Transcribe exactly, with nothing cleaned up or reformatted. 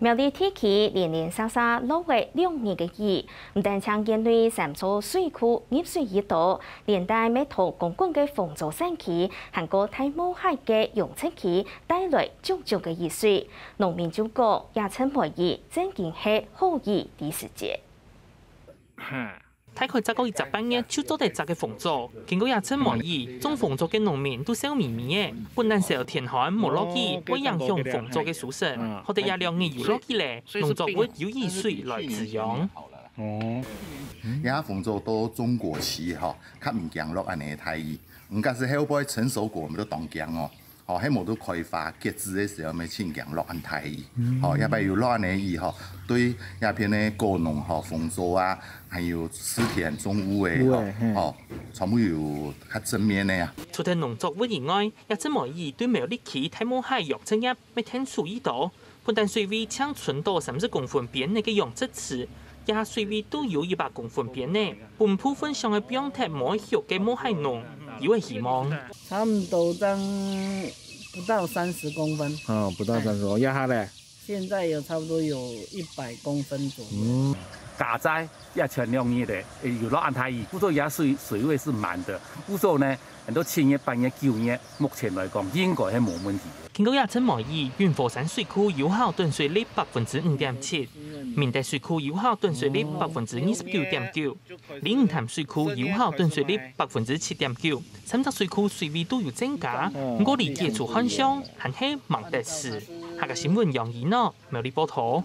苗栗地區零零星星落了兩日个雨，毋單淨園內三座水庫入水已多，連帶乜同公館个豐州山區，還過大茂溪个養殖區帶來種種个雨水。農民就講，這陣梅雨正經係好雨个時節。 大概再過一隻半月就做得摘个紅棗。經過這陣梅雨，種紅棗个農民都笑微微个，本來愁天寒無落雨，會影響紅棗个收成，好得這兩日有落雨咧，農作物有雨水來滋養。哦，這紅棗到中果期吼，較毋驚落恁呢大雨。毋過係後背成熟果，𠊎兜當驚哦。 吼，係無就開花結子个時候，愛盡驚落恁大雨。吼，這擺有落恁呢雨吼，對這片个果農吼、紅棗啊，還有水田種屋个吼，吼，全部有較正面个啊。除忒農作物以外，這陣梅雨對苗栗區大茂溪養殖業乜添手一刀。不但水位淨伸到三十公分邊个養殖池，這水位都有一百公分邊呢。 分部分想愛放忒梅畜个茂溪農有个希望。差不多這樣不到三十公分。哦，不到三十公分，這下咧？現在有差不多有一百公分左右。嗯，佳哉也前兩日咧，有落恁大雨，故所這水水位是滿的，故所呢，很多七月、八月、九月，目前來講應該係無問題。經過這陣梅雨，雲和山水庫有效囤水率百分之五點七，明德水庫有效囤水率百分之二十九點九。 鯉魚潭水庫有效囤水率百分之七點九，三隻水庫水位都有增加，毋過離解除旱象還係吂得時。客家新聞楊怡諾，苗栗報導。